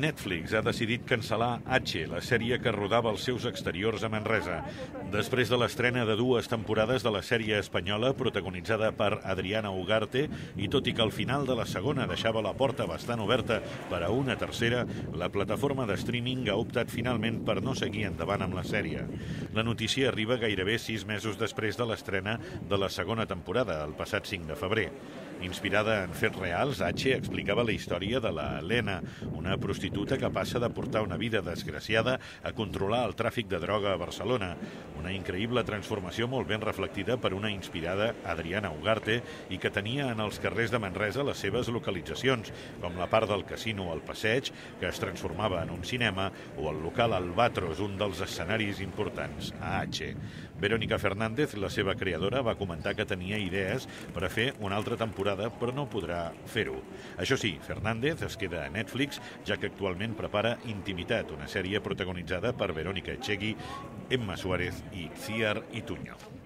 Netflix ha decidit cancel·lar H, la sèrie que rodava els seus exteriors a Manresa. Després de l'estrena de 2 temporades de la sèrie espanyola protagonitzada per Adriana Ugarte, i tot i que al final de la segona deixava la porta bastant oberta per a una tercera, la plataforma de streaming ha optat finalment per no seguir endavant amb la sèrie. La notícia arriba gairebé 6 mesos després de l'estrena de la segona temporada, el passat 5 de febrer. Inspirada en fets reals, H explicava la història de la Helena, una prostituta que passa de portar una vida desgraciada a controlar el tràfic de droga a Barcelona. Una increïble transformació molt ben reflectida per una inspirada Adriana Ugarte i que tenia en els carrers de Manresa les seves localitzacions, com la part del casino al Passeig, que es transformava en un cinema, o el local Albatros, un dels escenaris importants a H. Verónica Fernández, la seva creadora, va comentar que tenia idees per a fer una altra temporada, però no podrà fer-ho. Això sí, Fernández es queda a Netflix, ja que actualment prepara Intimitat, una sèrie protagonitzada per Verónica Echegui, Emma Suárez i Ciar Ituño.